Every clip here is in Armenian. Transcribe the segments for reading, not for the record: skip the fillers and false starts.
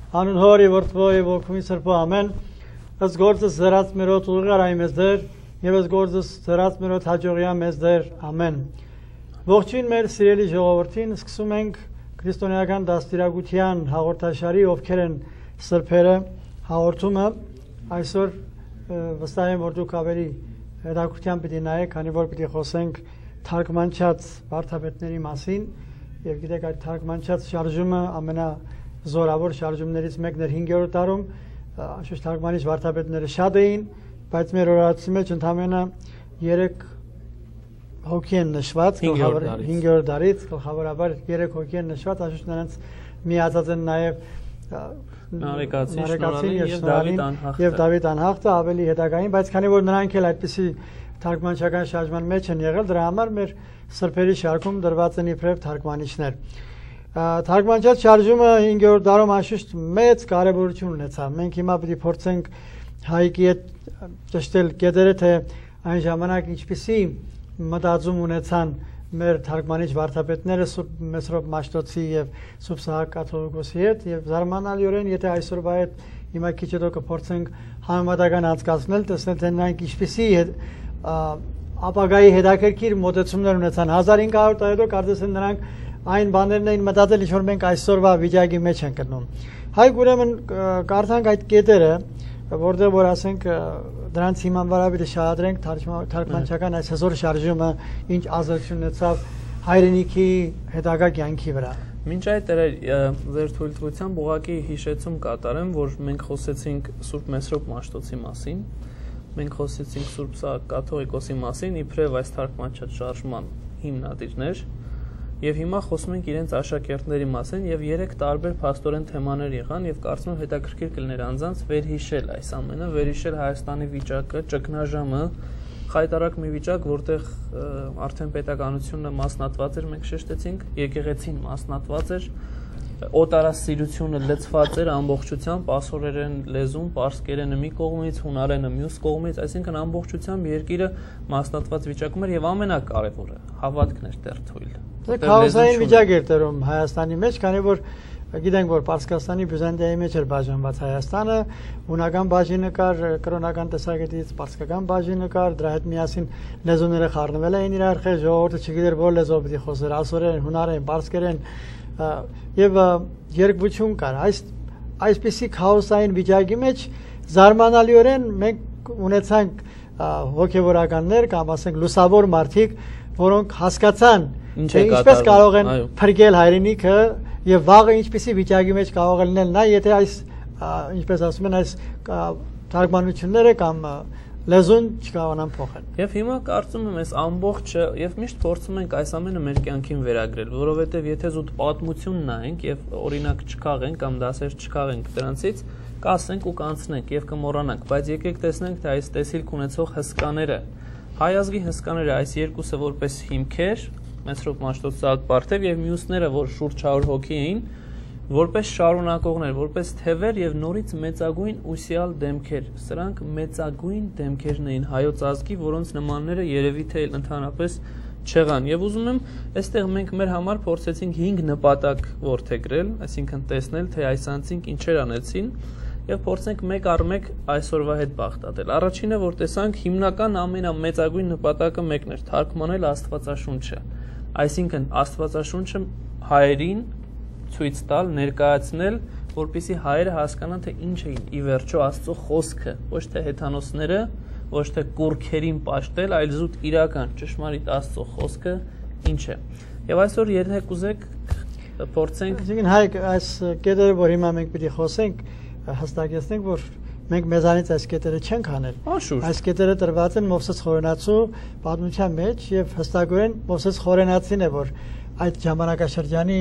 Անուն Հորի որդվո եւ ոգումի սրբո ամեն ըս գործս զրած մերոտ ուղղար այ մեզ դեր եւ ըս գործս զրած մերոտ հաջողիա մեզ դեր ամեն ողջույն մեր սիրելի ժողովրդին սկսում ենք քրիստոնեական դաստիարակության հաղորդաշարի ովքեր են սրբերը հաղորդումը այսօր վստահ եմ որ դուք ավելի հետաքրքրությամբ պիտի նայեք քանի որ պիտի խոսենք թարգմանչած վարդապետների մասին եւ գիտեք այդ թարգմանչած շարժումը ամենազորավոր շարժումներից մեկն էր 5-րդ դարում շուտ թարգմանիչ վարդապետները շատ էին բայց մեր օրացի մեջ ընդամենը 3 հոգի են նշված 5-րդ դարից գլխավորաբար 3 հոգի են նշված աշուտ նրանց միացած են նաեւ Նարեկացին եւ Դավիթ անհախտը ավելի հետագային բայց քանի որ նրանք էլ այդպիսի թարգմանչական շարժման մեջ են եղել դրա համար մեր սրբերի շարքում դրված են իբրև թարգմանիչներ թարգմանչած շարժումը 5-րդ դարում անշուշտ մեծ կարևորություն ունեցավ մենք հիմա պիտի փորձենք հայկի հետ ճշտել կետերը թե այն ժամանակ ինչպիսի մտածում ունեցան մեր թարգմանիչ վարդապետները Սուրբ Մեսրոպ Մաշտոցի եւ Սուրբ Սահակ Կաթողիկոսի հետ եւ զարմանալիորեն եթե այսօրվա հետ հիմա քիչ հետո կփորձենք համեմատական անցկացնել տեսնել թե նրանք ինչպիսի ապագայի հետաքրքիր մոտեցումներ ունեցան 1500 տարի հետո կարծես նրանք այն բաներն էին մտածել ինչ որ մենք այսօրվա վիճակի մեջ ենք գտնում հայք ուրեմն կարդանք այդ կետերը որտեղ որ ասենք դրանց հիման վրա պիտի շահադրենք թարգմանչական այս հզոր շարժումը ինչ ազդեցություն ունեցավ հայրենիքի հետագա կյանքի վրա Մինչ այդ ձեր թույլտվությամբ ուղղակի հիշեցում կատարեմ որ մենք խոսեցինք Սուրբ Մեսրոպ Մաշտոցի մասին մենք խոսեցինք Սուրբ Սահակ Կաթողիկոսի մասին իբրև այս թարգմանչած շարժման հիմնադիրներ Եվ հիմա խոսում ենք իրենց աշակերտների մասին եւ 3 տարբեր փաստորեն թեմաներ եղան եւ կարծում եմ հետաքրքիր կլիներ անձանց վերհիշել այս ամենը, վերհիշել Հայաստանի վիճակը, ճգնաժամը, խայտարակ մի վիճակ, որտեղ արդեն պետականությունը մասնատված էր, մենք շեշտեցինք, եկեղեցին մասնատված էր, օտարասիրությունը լցված էր ամբողջությամբ, ասորերեն լեզուն, պարսկերենը մի կողմից, հունարենը մյուս կողմից, այսինքն ամբողջությամբ երկիրը մասնատված վիճակում էր եւ ամենակարևորը հավատքն էր դեռ թույլ Քաոսային վիճակ էր տերում Հայաստանի մեջ, քանի որ գիտենք որ Պարսկաստանի Բյուզանդիայի մեջ էր բաժանված Հայաստանը, հունական բաժինը կար, կրոնական տեսակետից պարսկական բաժինը կար, դրա հետ միասին լեզուները խառնվել էին իրար հետ, ժողովուրդը չգիտեր որ լեզվով պիտի խոսեր, ասորերեն, հունարեն, պարսկերեն եւ երկվություն կար։ Այսպիսի քաոսային վիճակի մեջ զարմանալիորեն մենք ունեցանք հոգեվորականներ կամ ասենք լուսավոր մարդիկ, որոնք հասկացան թե ինչպես կարող են փրկել հայրենիքը եւ վաղը ինչպիսի վիճակի մեջ կարող են լինել նա եթե այս ինչպես ասում են այս թարգմանությունները կամ լեզուն չկարողանան փոխել Եվ հիմա կարծում եմ այս ամբողջը եւ միշտ փորձում ենք այս ամենը մեր կյանքին վերագրել որովհետեւ եթե զուտ պատմություն նայենք եւ օրինակ չքաղենք կամ դասեր չքաղենք դրանցից կասենք ու կանցնենք եւ կմոռանանք բայց եկեք տեսնենք թե այս տեսիլք ունեցող հսկաները հայ ազգի հսկաները այս երկուսը որպես հիմքեր Մեսրոպ Մաշտոց Սահակ Պարթև եւ մյուսները որ շուրջ 100 հոգի էին որպես շարունակողներ որպես թևեր եւ նորից մեծագույն ուսյալ դեմքեր սրանք մեծագույն դեմքերն էին հայոց ազգի որոնց նմանները երևի թե ընդհանրապես չեղան եւ ուզում եմ այստեղ մենք մեր համար փորձեցինք 5 նպատակ ворթեգրել այսինքն տեսնել թե այս անձինք ինչեր անեցին եւ փորձենք մեկ առ մեկ այսօրվա հետ բախտատել առաջինը որ տեսանք հիմնական ամենամեծագույն նպատակը մեկն էր թարգմանել Աստվածաշունչը Այսինքն Աստվածաշունչը հայերին ցույց տալ, ներկայացնել, որպեսզի հայերը հասկանան թե ինչ է ի վերջո Աստծո խոսքը, ոչ թե հեթանոսները, ոչ թե կուրքերին պաշտել, այլ զուտ իրական ճշմարիտ Աստծո խոսքը ինչ է։ Եվ այսօր եթե կուզեք փորձենք Այսինքն հայ այս կետերը որ հիմա մենք պիտի խոսենք, հստակեցնենք որ մենք մեզանից այս կետերը չենք անել։ Այս կետերը տրված են Մովսես Խորենացու պատմության մեջ եւ հստակորեն Մովսես Խորենացին է որ այդ ժամանակաշրջանի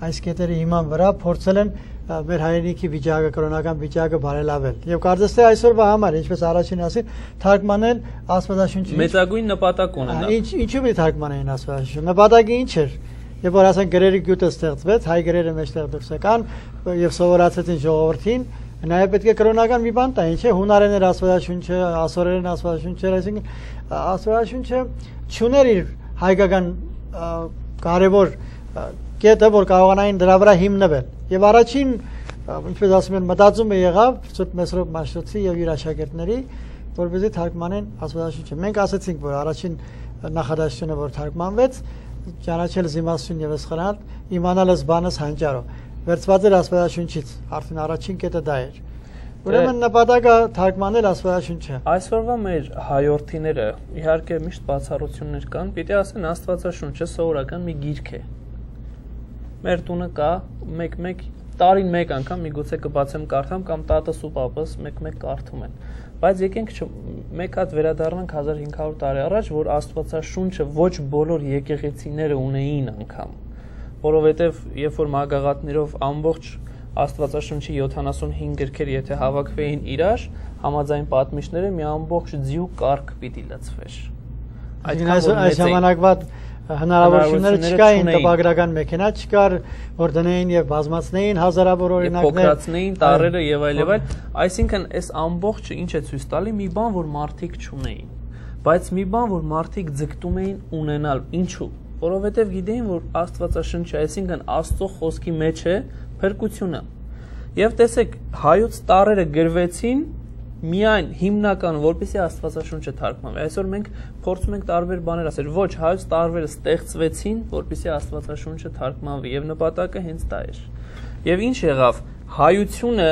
այս կետերի հիման վրա փորձել են մեր հայրենիքի վիճակը, կրոնական վիճակը բարելավել։ Եվ կարծես թե այսօրվա համար, ինչպես առաջին ասի, թարգմանել Աստվածաշունչը։ Մեծագույն նպատակ ունենա։ Ինչու՞ մի թարգմանեին Աստվածաշունչը։ Նպատակը ինչ էր։ Եվ որ ասենք գրերի գյուտը ստեղծվեց, հայ գրերը մեջտեղ դուրս եկան եւ սովորացեցին ժողովրդին Նաև պետք է կրոնական մի բան տա, ինչ է հունարեն էր Աստվածաշունչը, ասորերեն Աստվածաշունչը, այսինքն Աստվածաշունչը չուներ իր հայկական կարևոր կետը, որ կարողանային դրա վրա հիմնվել։ Եվ առաջին ինչպես ասում են, մտածում է եղավ Սուրբ Մեսրոպ Մաշտոցի եւ իր աշակերտների, որպեսզի թարգմանեն Աստվածաշունչը։ Մենք ասացինք, որ առաջին նախադասությունը, որ թարգմանվեց, ճանաչել զիմասություն եւ սխրանալ, իմանալս բանս հանճարո։ Վերցված էր Աստվածաշունչից, արդեն առաջին կետը դա էր։ Ուրեմն նպատակը թարգմանել Աստվածաշունչը։ Այսօրվա մեր հայորդիները իհարկե միշտ բացառություններ կան, պիտի ասեն Աստվածաշունչը սովորական մի գիրք է։ Մեր տունը կա մեկ տարին մեկ անգամ միգուցե կբացեմ կարդամ կամ տատս ու պապս մեկ կարդում են։ Բայց եկենք մեկ հատ վերադառնանք 1500 տարի առաջ, որ Աստվածաշունչը ոչ բոլոր եկեղեցիները ունեին անգամ, որովհետև երբ որ մագաղատներով ամբողջ Աստվածաշունչի 75 գրքեր եթե հավաքվեին իրար, համաձայն պատմիչները մի ամբողջ ձյու կարգ պիտի լցվեր։ Այս ժամանակվա հնարավորությունները չկային, տպագրական մեքենա չկար, որ դնեին եւ բազմացնեին հազարավոր օրինակներ, փոքրացնեին տառերը եւ այլ եւ այլ, այսինքն այս ամբողջը ինչ է ցույց տալի մի բան, որ մարդիկ չունեին, բայց մի բան, որ մարդիկ ձգտում էին ունենալ, ինչու՞, որովհետեւ գիտեին, որ Աստվածաշունչը, այսինքն Աստծո խոսքի մեջ է փրկությունը։ Եվ տեսեք, հայոց տառերը գրվեցին միայն հիմնական, որպեսզի Աստվածաշունչը թարգմանվի։ Այսօր մենք փորձում ենք տարբեր բաներ ասել, ոչ, հայոց տարբերը ստեղծվեցին, որպեսզի Աստվածաշունչը թարգմանվի, եւ նպատակը հենց դա էր։ Եվ ինչ եղավ, հայությունը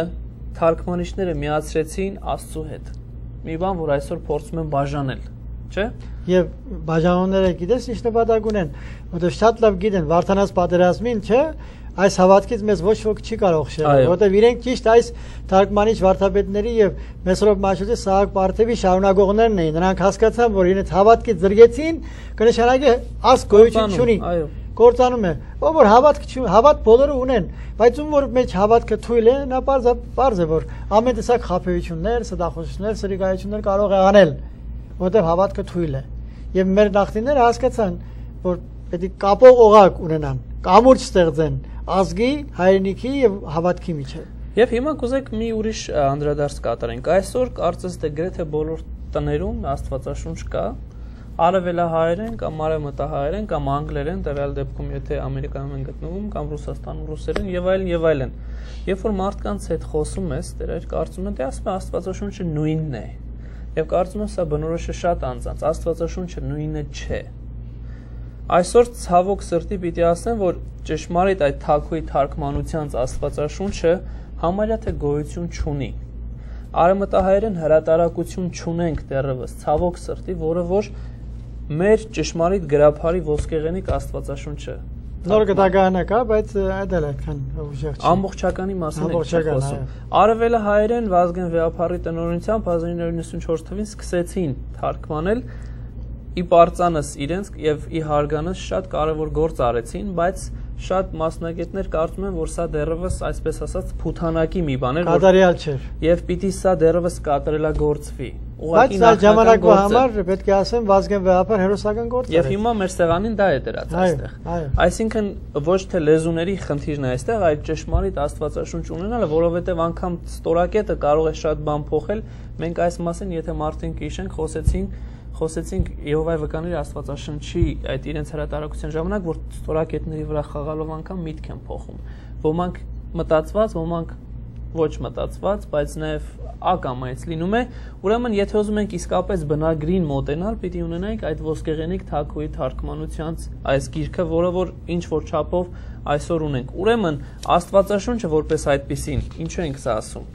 թարգմանիչները միացրեցին Աստծո հետ։ Մի բան, որ այսօր փորձում են բաժանել, չէ՞։ Եվ բաժանողները գիտես ինչ նպատակ ունեն, որովհետեւ շատ լավ գիտեն Վարդանաց պատերազմին, չէ՞։ Այս հավատքից մեզ ոչ ոք չի կարող շեղել, որովհետև իրենք ճիշտ այս թարգմանիչ վարդապետների եւ Մեսրոպ Մաշտոցի Սահակ Պարթևի շարունակողներն էին։ Նրանք հասկացան, որ իրենց հավատքից զրկեցին, կնշանակի ասք գոյություն չունի։ Կործանում է։ Ով որ հավատ բոլորը ունեն, բայց ում որ մեջ հավատքը թույլ է, նա պարզ է, որ ամեն տեսակ խաբեություններ, ստախոսություններ, սրիկայություններ կարող է անել, որովհետև հավատքը թույլ է։ Եվ մեր նախնիները հասկացան, որ պետք է կապող օղակ ունենան, կամուրջ ստեղծեն ազգի, հայրենիքի եւ հավատքի միջեւ։ Եվ հիմա կուզեք մի ուրիշ անդրադարձ կատարենք։ Այսօր կարծես թե գրեթե բոլոր տներում Աստվածաշունչ կա, արևելահայերեն կամ արևմտահայերեն կամ անգլերեն, տվյալ դեպքում եթե Ամերիկայում են գտնվում կամ Ռուսաստանում ռուսերեն եւ այլն եւ այլն։ Երբ որ մարդկանց հետ խոսում ես, դեռ կարծում են, թե ասում է Աստվածաշունչը նույնն է։ Եվ կարծում եմ սա բնորոշ է շատ անձանց, Աստվածաշունչը նույնը չէ։ Այսօր ցավոք սրտի պիտի ասեմ, որ ճշմարիտ այդ թագուհի թարգմանության Աստվածաշունչը համարյա թե գոյություն չունի։ Արևմտահայերեն հրատարակություն չունենք դեռևս, ցավոք սրտի, որը որ մեր ճշմարիտ գրաբարի ոսկեղենիկ Աստվածաշունչը նոր գտականը կա, բայց այդ էլ այդքան ուժեղ չի։ Ամբողջականի մասին է խոսում։ Արևելահայերեն Վազգեն Վեհափառի տնօրինությամբ 1994 թվականին սկսեցին թարգմանել ի պարծանս իրենց եւ ի հարգանս շատ կարեւոր գործ արեցին, բայց շատ մասնագետներ կարծում են, որ սա դեռևս այսպես ասած փութանակի մի բան էր, կատարյալ չէր։ Եւ պիտի սա դեռևս կատարելագործվի։ Բայց սա ժամանակվա համար պետք է ասեմ Վազգեն Վեհափար հերոսական գործ էր։ Եվ հիմա մեր սեղանին դա է դրած այստեղ։ Այսինքն ոչ թե լեզուների խնդիրն է այստեղ, այլ ճշմարիտ Աստվածաշունչ ունենալը, որովհետեւ անգամ ստորակետը կարող է շատ բան փոխել։ Մենք այս մասին, եթե մարդին կհիշենք, խոսեցինք Եհովայի վկաների Աստվածաշնչի այդ իրենց հրատարակության ժամանակ, որ ստորակետների վրա խաղալով անգամ միտք են փոխում։ Ոմանք մտածված, ոմանք ոչ մտածված, բայց նաև ակամայից լինում է։ Ուրեմն, եթե ուզում ենք իսկապես բնագրին մոտենալ, պիտի ունենանք այդ ոսկեղենիկ թագուհի թարգմանության այս գիրքը, որը որ ինչ որ չափով այսօր ունենք։ Ուրեմն, Աստվածաշունչը որպես այդպիսին, ինչու ենք սա ասում։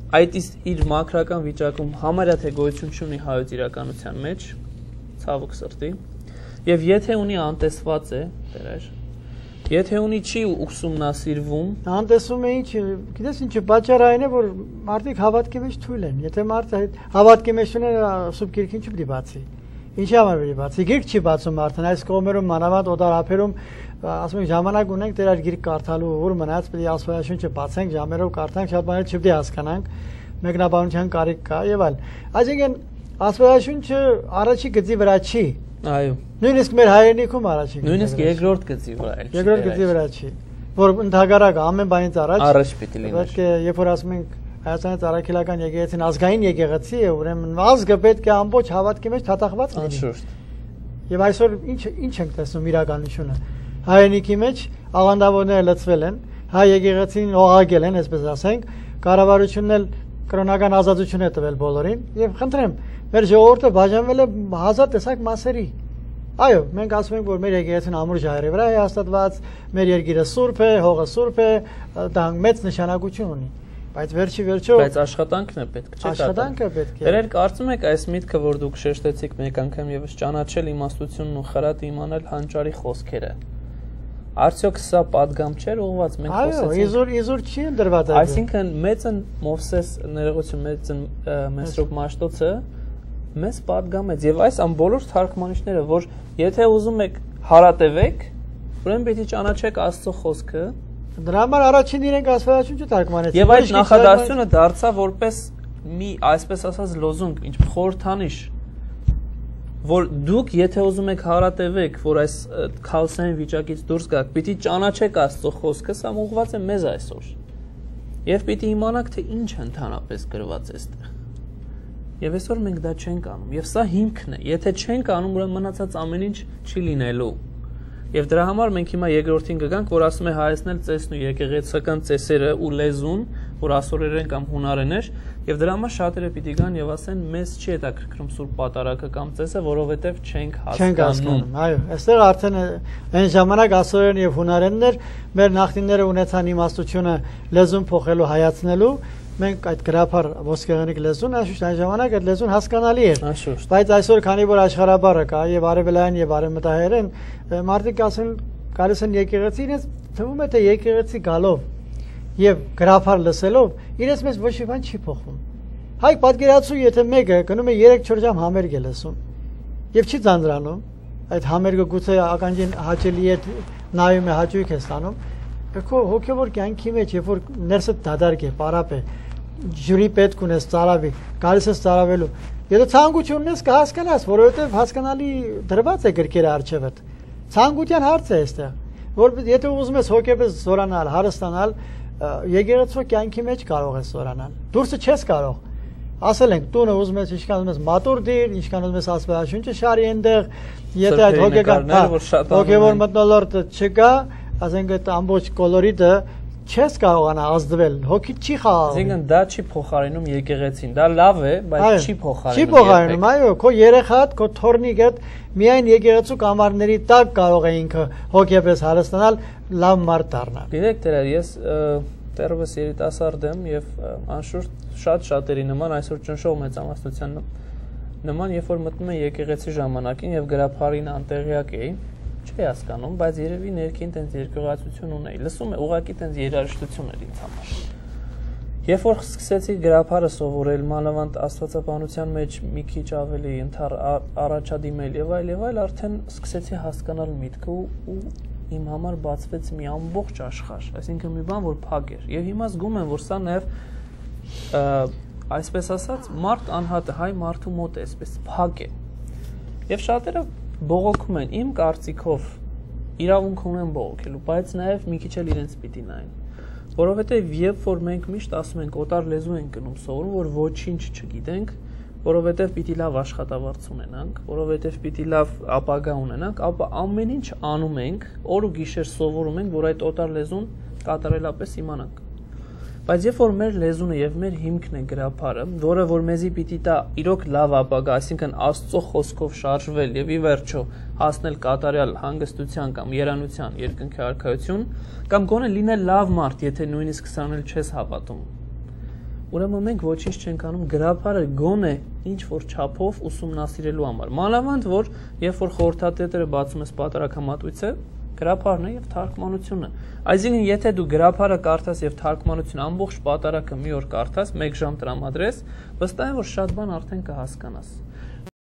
Այդ իր մակրական վիճակում համարյա թե գոյություն չունի հայոց իրականության մեջ, ցավոք սրտի, եւ եթե ունի անտեսված է, դերեր, եթե ունի չի ուսումնասիրվում, անտեսում է ինչ, գիտես ինչը պատճառը այն է, որ մարդիկ հավատքի մեջ թույլ են, եթե մարդը հավատքի մեջ ունի, սուրբ գիրքին չի պիտի բացի, ինչի համար պիտի բացի, գիրք չի բացում արդեն, այս կողմերում մանավանդ օտար ափերում, ասում ենք ժամանակ ունենք դեր այդ գիրք կարդալու, որ մնաց պիտի Աստվածաշունչը բացենք, ժամերով կարդանք, շատ բաներ չպիտի հասկանանք, մեկնաբանության կարիք կա եւ այլ։ Այսինքն Աստվածաշունչը առաջի գծի վրա չի։ Այո։ Նույնիսկ մեր հայրենիքում առաջի։ Նույնիսկ երկրորդ գծի վրա էլ չի։ Երկրորդ գծի վրա չի։ Որ ընդհանրակ ամեն բանից առաջ պիտի լինի։ Պետք է երբ որ ասում ենք Հայաստանի Ծառայքելական եկեղեցին ազգային եկեղեցի է, ուրեմն ազգը պետք է ամբողջ հավատքի մեջ թաթախված լինի։ Անշուշտ։ Եվ այսօր ինչ ենք տեսնում իրականությունը։ Հայրենիքի մեջ աղանդավորները լցվել են հայ եկեղեցին օղակել են, այսպես ասենք, կառավարությունն էլ կրոնական ազատություն է տվել բոլորին եւ խնդրեմ, մեր ժողովուրդը բաժանվել է հազար տեսակ մասերի։ Այո, մենք ասում ենք, որ մեր եկեղեցին ամուր ժայռի վրա է հաստատված, մեր երկիրը սուրբ է, հողը սուրբ է, դա մեծ նշանակություն ունի։ Բայց վերջի վերջո բայց աշխատանքն է պետք, չէ՞։ Աշխատանքը պետք է։ Դերեր կարծում եք այս միտքը, որ դուք շեշտեցիք մեկ անգամ եւս ճանաչել իմաստությունն ու խրատը իմանալ հանճարի խոսքերը։ Արդյոք սա падգամ չէր ուղված մենք խոսեցինք։ Այո, իզուր չի ընդրված այդ։ Այսինքն մեծն Մովսես ներողություն մեծն Մեսրոպ Մաշտոցը մեզ падգամեց եւ այս ամ բոլոր թարգմանիչները, որ եթե ուզում եք հարատևեք, ուրեմն պետք է ճանաչեք Աստծո խոսքը։ Դրա համար առաջին իրենք աստվածաշունչը թարգմանեցին։ Եվ այդ նախադասությունը դարձավ որպես մի, այսպես ասած, լոզունգ, ինչ խորհրդանիշ, որ դուք եթե ուզում եք հարատևեք, որ այս քաոսային վիճակից դուրս գաք, պիտի ճանաչեք Աստծո խոսքը, սա ուղղված է մեզ այսօր։ Եվ պիտի իմանաք, թե ինչ է ընդհանրապես գրված այստեղ։ Եվ այսօր մենք դա չենք անում, եւ սա հիմքն է։ Եթե չենք անում, ուրեմն մնացած ամեն ինչ չի լինելու։ Եվ դրա համար մենք հիմա երկրորդին կգանք, որ ասում է հայեցնել ծեսն ու եկեղեցական ծեսերը ու լեզուն, որ ասորերեն կամ հունարեն էր, եւ դրա համար շատերը պիտի գան եւ ասեն, մեզ չի հետաքրքրում սուրբ պատարագը կամ ծեսը, որովհետեւ չենք հասկանում։ Այո, այստեղ արդեն այն ժամանակ ասորերեն եւ հունարենն էր, մեր նախնիները ունեցան իմաստությունը լեզուն փոխելու, հայացնելու, մենք այդ գրափար ոսկեղենիկ լեզուն, անշուշտ այն ժամանակ այդ լեզուն հասկանալի էր։ Բայց այսօր քանի որ աշխարհաբառը կա եւ արևելային եւ արևմտահայերեն, մարդիկ ասեն գալիս են եկեղեցի, իրենց թվում է թե եկեղեցի գալով եւ գրափար լսելով, իրենց մեզ ոչ մի բան չի փոխվում։ Հայ պատկերացու, եթե մեկը գնում է 3-4 ժամ համերգ է լսում եւ չի ձանձրանում, այդ համերգը գուցե ականջին հաճելի է նայում է, հաճույք է ստանում, քո հոգեվոր կյանքի մեջ, երբ որ ներսը դադարք է, պարապ է, ջուրի պետք ունես ծարավի, գալիս ես ծարավելու։ Եթե ցանկություն ունես կհասկանաս, որովհետև հասկանալի դրված է գրքերը առջևդ։ Ցանկության հարց է այստեղ, որ եթե ուզում ես հոգեպես զորանալ, հարստանալ, եկեղեցու կյանքի մեջ կարող ես զորանալ։ Դուրսը չես կարող։ Ասել ենք, տունը ուզում ես ինչքան ուզում ես մատուր դիր, ինչքան ուզում ես աստվածաշունչը շարի այնտեղ, եթե այդ հոգևոր մթնոլորտը չկա, ասենք այդ ամբողջ կոլորիտը չես կարողանա ազդվել, հոգիդ չի խաղաղում։ Այսինքն դա չի փոխարինում եկեղեցին, դա լավ է, բայց չի փոխարինում։ Չի փոխարինում, այո, քո երեխադ, քո թորնիկդ միայն եկեղեցու կամարների տակ կարող է ինքը հոգեպես հարստանալ, լավ մարդ դառնալ։ Գիտեք, դերեր, ես դեռևս երիտասարդ եմ եւ անշուշտ շատերի նման այսօր ճնշող մեծամասնության նման, երբ որ մտնում եմ եկեղեցի ժամանակին եւ գրափարին անտեղյակ էի, չի հասկանում, բայց երևի ներքին տենց երկյուղացություն ունեի։ Լսում է ուղղակի տենց երաժշտություն էր ինձ համար։ Երբ որ սկսեցի գրափարը սովորել, մանավանդ աստվածաբանության մեջ մի քիչ ավելի առաջադիմել եւ այլ, արդեն սկսեցի հասկանալ միտքը ու իմ համար բացվեց մի ամբողջ աշխարհ, այսինքն մի բան, որ փակ էր։ Եվ հիմա զգում եմ, որ սա նաեւ այսպես ասած, մարդ անհատը, հայ մարդու մոտ է, այսպես փակ է։ Եվ շատերը բողոքում են, իմ կարծիքով իրավունք ունեն բողոքելու, բայց նաև մի քիչ էլ իրենց պիտի նայեն։ Որովհետև երբ որ մենք միշտ ասում ենք օտար լեզու ենք գնում սովորում, որ ոչինչ չգիտենք, որովհետև պիտի լավ աշխատավարձ ունենանք, որովհետև պիտի լավ ապագա ունենանք, ապա ամեն ինչ անում ենք, օր ու գիշեր սովորում ենք, որ այդ օտար լեզուն կատարելապես իմանանք։ Բայց երբ որ մեր լեզունը եւ մեր հիմքն է գրափարը, որը որ մեզի պիտի տա իրոք լավ ապագա, այսինքն Աստծո խոսքով շարժվել եւ ի վերջո հասնել կատարյալ հանգստության կամ երանության երկնքի արքայություն, կամ գոնե լինել լավ մարդ, եթե նույնիսկ սրան էլ չես հավատում։ Ուրեմն մենք ոչինչ չենք անում գրափարը գոնե ինչ որ չափով ուսումնասիրելու համար։ Մանավանդ որ երբ որ խորհրդատետերը բացում ես պատարագամատույցը, գրափարն է եւ թարգմանությունը։ Այսինքն եթե դու գրափարը կարդաս եւ թարգմանությունը ամբողջ պատարագը մի օր կարդաս, 1 ժամ տրամադրես, վստահ եմ որ շատ բան արդեն կհասկանաս։